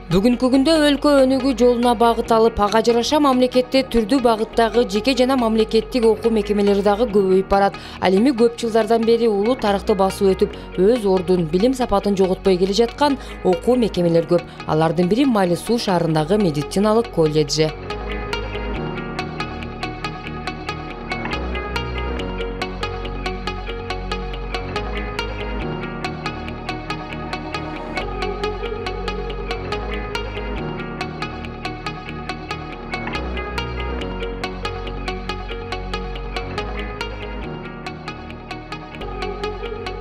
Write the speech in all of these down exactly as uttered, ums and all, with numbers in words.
Бүгүнкү күндө өлкө өнүгүү жолуна багыт алып, ага жараша мамлекетте түрдүү багыттагы жеке жана мамлекеттик окуу мекемелери дагы көбөйүп барат. Ал эми көп жылдардан бери улуу тарыхты басып өтүп, өз ордун, билим сапатын жоготпой келе жаткан окуу мекемелер көп. Алардын бири Майлы Суу шаарындагы медициналык колледжи.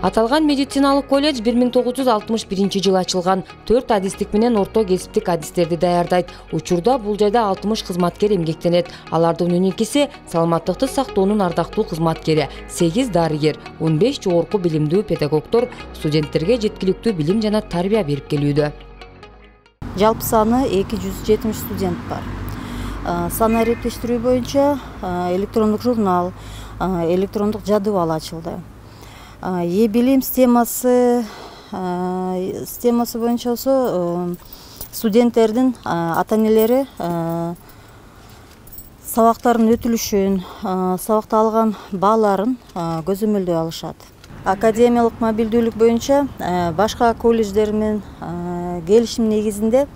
Аталган медициналык колледж бир миң тогуз жүз алтымыш биринчи жылы ачылган. төрт адистик менен орто кесиптик адистерди даярдайт. Учурда бул жайда алтымыш кызматкер эмгектенет. Алардын он экиси саламаттыкты сактоонун ардактуу кызматкери, сегиз дарыгер, он беш жогорку билимдүү педагогдор студенттерге жеткиликтүү билим жана тарбия берип келүүдө. Жалпы саны эки жүз жетимиш студент бар. Саны эрептештирүү боюнча электрондук журнал, электрондук жадыбал ачылды. Е-билим системасы системасы боюнча болсо студенттердин ата-энелери сабактардын өтүлүшүн, сабакта алган бааларын көзөмөлдөй алышат. Академиялык мобилдүүлүк боюнча башка колледждер менен келишим негизинде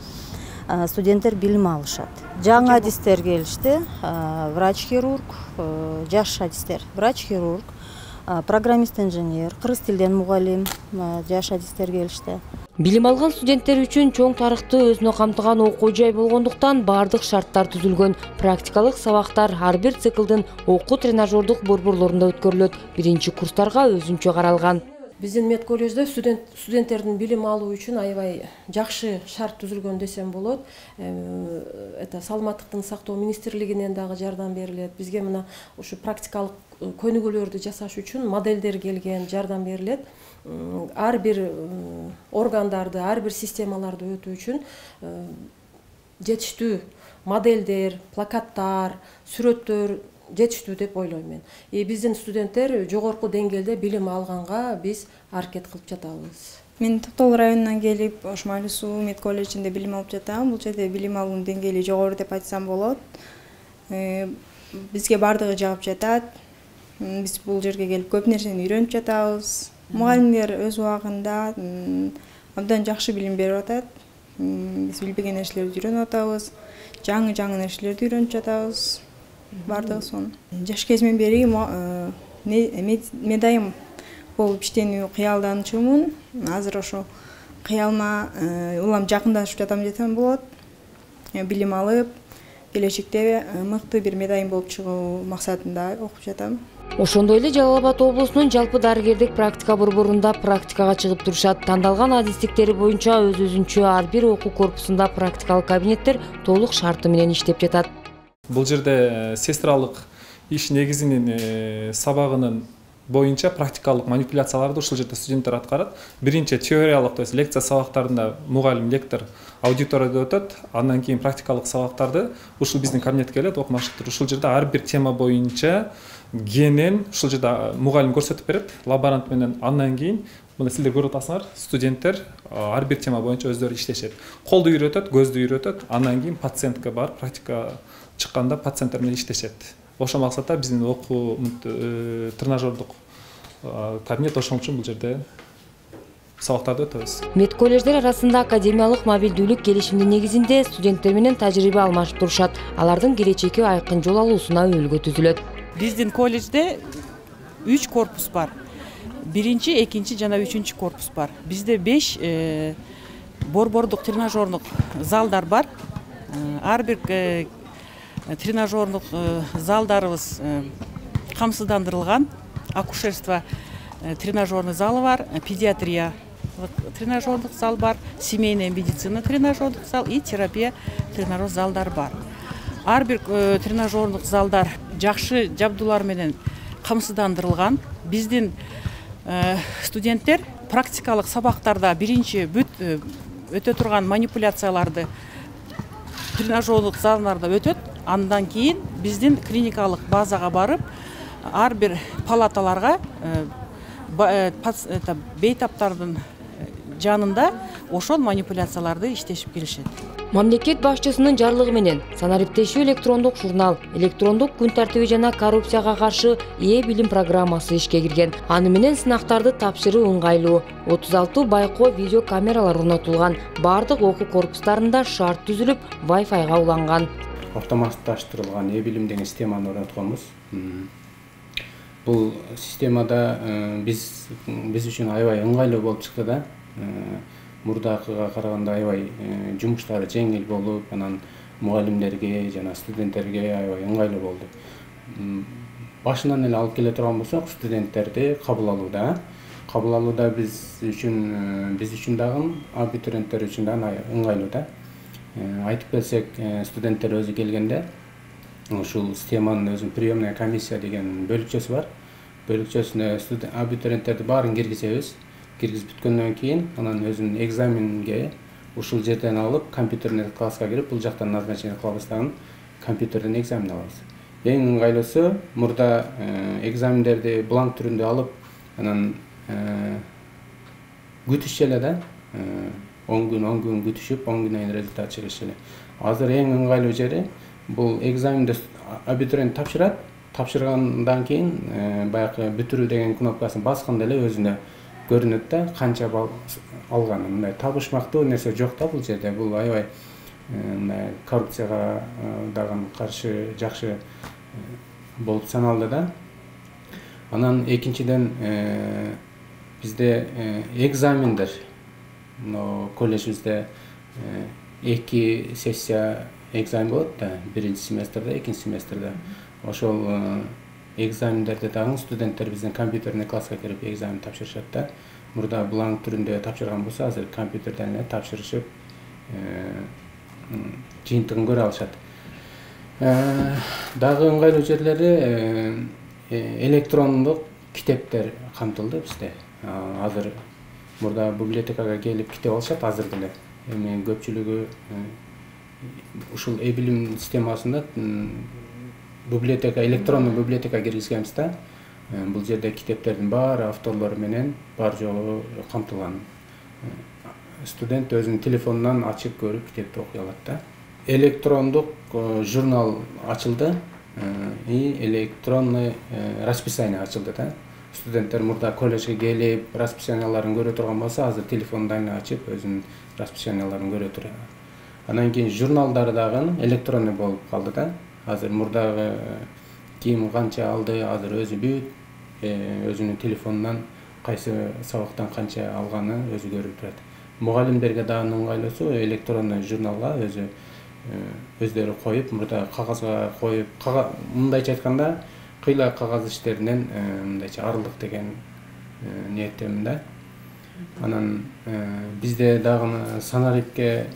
студенттер билим алышат. Жаңы адистер келишти, врач-хирург, жаш адистер, врач-хирург, программист-инженер, кыргыз тилден мугалим, жаш адистер келишти. Билим алган студенттер үчүн чоң тарыхты өзүнө камтыган окуу жай болгондуктан бардык шарттар түзүлгөн. Практикалык сабактар ар бир циклдын окуу тренажердук борборлорунда өткөрүлөт. Биринчи курстарга өзүнчө каралган. Биздин мед колледжде студент студенттердин билим алуу үчүн аябай жакшы шарт түзүлгөн десем болот. Это саламаттыктын сактоо министрлигинен дагы жардам берилет. Бизге мына ушу практикалык көнүгүүлөрдү жасаш үчүн моделдер келген, жардам берилет. Ар бир органдарды, ар бир системаларды өтүү үчүн жетиштүү моделдер, плакаттар, сүрөттөр жетиштүү деп ойлойм мен. И биздин студенттер жогорку деңгээлде билим алганга биз аракет кылып жатабыз. Мен Токтол районунан келип, ош Майлы Суу мед колледжинде билим алып жатам. Бул жерде билим алуунун деңгээли жогору деп айтсам болот. Бизге бардыгы жагып жатат. Биз бул жерге келип көп нерсени үйрөнүп жатабыз. Мугалимдер өз убагында абдан жакшы билим берип атат. Биз билбеген нерселерди үйрөнүп атабыз. Жаңы-жаңы нерселерди үйрөнүп жатабыз. Бардыгы сонун. Жаш кезимден бери медайым болуп иштенүү кыялданчумун. Азыр ошо кыялыма улам жакындашып жатам десем болот. Билим алып, келечекте мыкты бир медайым болуп чыгуу максатында окуп жатам. Ошондой эле Жалал Абад облусунун жалпы дарыгердик практика борборунда практикага чыгып турушат. Тандалган адистиктери боюнча өз-өзүнчө ар бир окуу корпусунда практикалык кабинеттер толук шарты менен иштеп жатат. Бул жерде сестралык иш негизинин сабагынын боюнча практикалык манипуляцияларды ушул жерде студенттер аткарат. Биринчи теориялык, то есть лекция сабактарында мугалим, лектор аудиторияда өтөт. Андан кийин практикалык сабактарды ушул биздин кабинетке келет, окумуштар. Ушул жерде ар бир тема боюнча кенен ушул жерде мугалим көрсөтүп берет, лаборант менен. Андан кийин мына силер көрүп атасыңар, студенттер ар бир тема боюнча өздөрү иштешет. Колду үйрөтөт, көздү үйрөтөт. Андан кийин пациентке барып практика чыкканда пациенттер менен иштешет. Ошол максатта биздин окуу тренажердук кабинет ошон үчүн бул жерде сабактарды өтөбүз. Мед колледждер арасында академиялык мобилдүүлүк келишимдин негизинде студенттер менен тажрыйба алмашып турушат. Алардын келечеки айкын жол алуусуна өбөлгө түзүлөт. Биздин колледжде үч корпус бар. Биринчи, экинчи жана үчүнчү корпус бар. Бизде беш борбордук тренажердук залдар бар. Ар бир тренажердук залдарыбыз камсыздандырылган. Акушерство тренажерный залы бар, педиатрия тренажердук зал бар, семейная медицина тренажердук зал и терапия тренажер залдар бар. Ар бир тренажердук залдар жакшы жабдуулар менен камсыздандырылган. Биздин студенттер практикалык сабактарда биринчи бүт өтө турган манипуляцияларды тренажерлык залдарда өтөт. Андан кийин биздин клиникалык базага барып, ар бир палаталарга бейтаптардын жанында ошол манипуляцияларды иштешип келишет. Мамлекет башчысынын жарлыгы менен санариптешүү электрондук журнал, электрондук күн тартиби жана коррупцияга каршы ээ билим программасы ишке кирген. Аны менен сынактарды тапшыруу ыңгайлуу. отуз алты байкоо видео камералар орнотулган. Бардык окуу корпустарында шарт түзүлүп, Wi-Fi'га уланган. Автоматташтырылган ээ билим деген системаны орнотконбуз. Бул системада биз биз үчүн аябай ыңгайлуу болуп чыкты да. Мурдакыга караганда аябай жумуштары жеңил болуп, анан мугалимдерге жана студенттерге аябай ыңгайлуу болду. Башынан эле алып келе турган болсок, студенттерди кабыл алууда, кабыл алууда биз үчүн биз үчүн дагы, абитуриенттер үчүн дагы ыңгайлуу да. Айтып келсек, студенттер өзү келгенде ушул системанын өзүнүн приемная комиссия деген бөлүкчөсү бар. Бөлүкчөсүнө абитуриенттерди баарын киргизебиз. Киргизип бүткөндөн кийин анан өзүнүн экзаменге ушул жерден алып, компьютерный класска кирип, бул жактан назначение кылабыз дагы, компьютерден экзамен алабыз. Эң ыңгайлуусу мурда экзамендерди бланк түрүндө алып, анан күтүшчү эле да. он күн, он күн күтүшүп, он күндөн кийин результат чыгышы эле. Азыр эң ыңгайлуу жери бул экзаменди абитуриент тапшырат, тапшыргандан кийин баягы бүтүрүү деген кнопкасын басканда эле өзүнө көрүнөт да, канча балл алганын. Мындай табышмактуу нерсе жок да бул жерде. Бул аябай мындай коррупцияга дагы каршы жакшы болуп саналды да. Анан экинчиден бизде экзамендер, колледжибизде эки сессия экзамен болот да, биринчи семестрде, экинчи семестрде. Ошол экзамендерди дагы студенттер биздин компьютерный класска кирип экзамен тапшырышат да. Мурда бланк түрүндө тапшырган болсо, азыр компьютерден эле тапшырышып, жыйынтыгын көрө алышат. Дагы ыңгайлуу жерлери электрондук китептер камтылды бизде. Азыр мурда библиотекага келип китеп алышат азыр деле. Эми көпчүлүгү ушул ээ билим системасында библиотека, электрондук библиотека киргизгенбиз да. Бул жерде китептердин баары авторлору менен бар жогу камтылган. Студент өзүнүн телефонунан ачып көрүп китепти окуй алат да. Электрондук журнал ачылды и электронный расписание ачылды да. Студенттер мурда колледжге келип расписанияларын көрө турган болсо, азыр телефонунан ачып өзүнүн расписанияларын көрө турат. Анан кийин журналдар дагы электронный болуп калды да. Азыр мурдагы ким канча алды, азыр өзү бүт өзүнүн телефонунан кайсы сабактан канча алганы өзү көрүп турат. Мугалимдерге дагы ыңгайлуусу электронный журналга өзү өздөрү коюп, мурда кагазга коюп, мындайча айтканда кыйла кагаз иштеринен мындайча арылдык деген ниеттемин да. Анан бизде дагы санарипке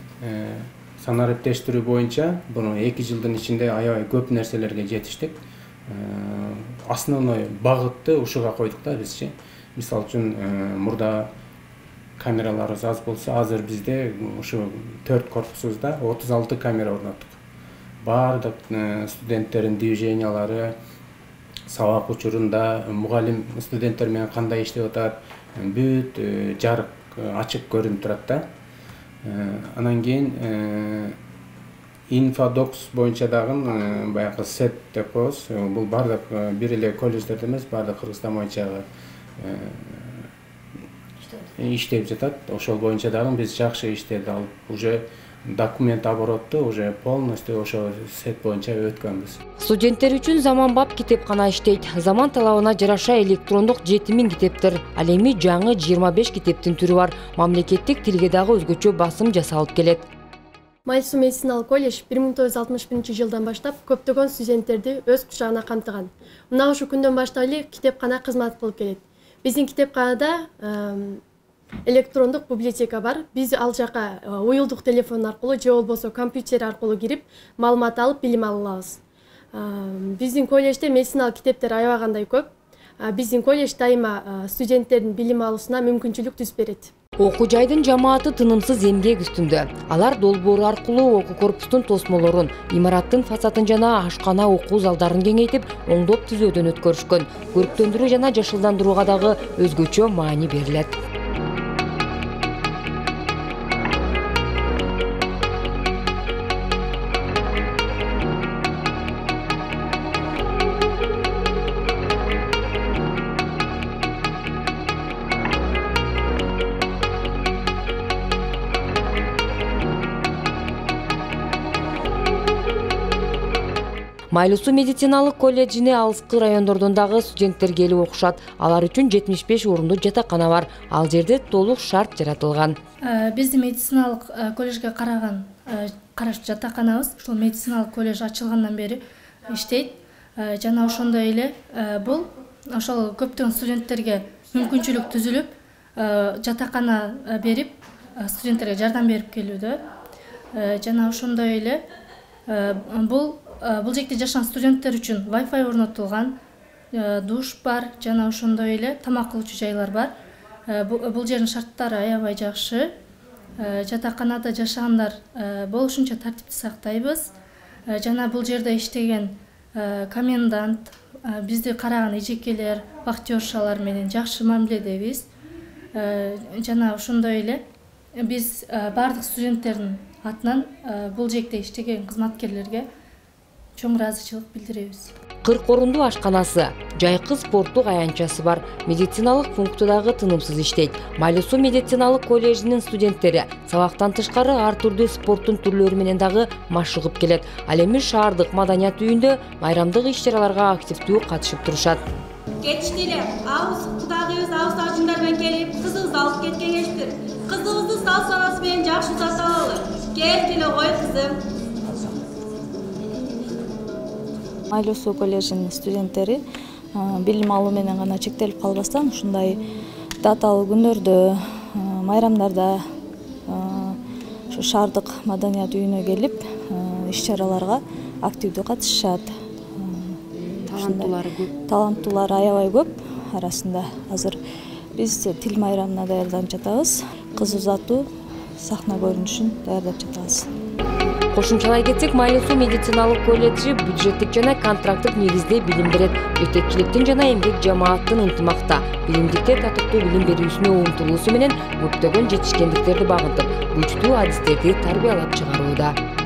санариптештирүү боюнча буну эки жылдын ичинде аябай көп нерселерге жетиштик. Основной багытты ушуга койдук да бизчи. Мисалы үчүн мурда камераларыбыз аз болсо, азыр бизде ушу төрт корпусубузда отуз алты камера орноттук. Бардык студенттердин движениялары, сабак учурунда мугалим студенттер менен кандай иштеп атат, бүт жарык ачык көрүнүп турат да. Анан кийин инфодокс боюнча дагы баягы сет деп коебуз. Бул бардык бир эле колледждерде эмес, бардык Кыргызстан боюнча иштеп жатат. Ошол боюнча дагы биз жакшы иштеп алып, уже документ обороту уже полностью ошо сет боюнча өткөнбүз. Студенттер үчүн заманбап китепкана иштейт. Заман талабына жараша электрондук жети миң китептер. Ал эми жаңы жыйырма беш китептин түрү бар. Мамлекеттик тилге дагы өзгөчө басым жасалып келет. Майсу медициналык колледж бир миң тогуз жүз алтымыш биринчи жылдан баштап көптөгөн студенттерди өз кучагына камтыган. Мына ушул күндөн баштап эле китепкана кызмат кылып келет. Биздин китепканада электрондук библиотека бар. Биз ал жака уюлдук телефон аркылуу же болбосо компьютер аркылуу кирип, маалымат алып, билим ала алабыз. Биздин колледжде медициналык китептер аябагандай көп. Биздин колледж дайыма студенттердин билим алуусуна мүмкүнчүлүк түзүп берет. Окуу жайдын жамааты тынымсыз эмгек үстүндө. Алар долбоор аркылуу окуу корпустун тосмолорун, имараттын фасадын жана ашкана окуу залдарын кеңейтип, оңдоп түзөөдөн өткөрүшкөн. Көрктөндүрүү жана жашылдандырууга дагы өзгөчө маани берилет. Майлуу суу медициналык колледжине алыскы райондордон дагы студенттер келип окушат. Алар үчүн жетимиш беш орундуу жатакана бар. Ал жерде толук шарт жаратылган. Биздин медициналык колледжге караган караш жатаканабыз ушул медициналык колледж ачылгандан бери иштейт. Жана ошондой эле бул ошол көптөгөн студенттерге мүмкүнчүлүк түзүлүп, жатакана берип, студенттерге жардам берип келүүдө. Жана ошондой эле бул бул жакта жашаган студенттер үчүн Wi-Fi орнотулган, душ бар, жана ошондой эле тамак кылуучу жайлар бар. Бул жердин шарттары аябай жакшы. Жатаканада жашагандар болушунча тартипти сактайбыз. Жана бул жерде иштеген комендант, бизди караган эжекелер, вахтершалар менен жакшы мамиледебиз. Жана ошондой эле биз бардык студенттердин атынан бул жекте иштеген кызматкерлерге чоң ыраазычылык билдиребиз. кырк орундуу ашканасы, жайкы спорттук аянтчасы бар. Медициналык пункту дагы тынымсыз иштейт. Майлуу суу медициналык колледжинин студенттери сабактан тышкары ар түрдүү спорттун түрлөрү менен дагы машыгып келет. Ал эми шаардык маданият үйүндө майрамдык иш-чараларга активдүү катышып турушат. Кетишти эле, абыз кудагыбыз абыз ажындар менен келип, кызыбызды алып кеткен эшти. Кызыбызды сал санасы менен жакшы узата алалы. Келгиле кой кызым. Майлуу суу колледжинин студенттери билим алуу менен гана чектелип калбастан ушундай даталуу күндөрдө, майрамдарда ушу шаардык маданият үйүнө келип иш-чараларга активдүү катышышат. Таланттуулары көп. Таланттуулар аябай көп арасында. Азыр биз тил майрамына даярданып жатабыз. Кыз узатуу сахна көрүнүшүн даярдап жатабыз. Кошумчалай кетсек, Майлуу суу медициналык колледжи бюджеттик жана контракттык негизде билим берет. Жетекчиликтин жана эмгек жамааттын ынтымакта билимдиктер татыктуу билим берүүсүнө умтулуусу менен көптөгөн жетишкендиктерди багынтып, күчтүү адистерди тарбиялап чыгарууда.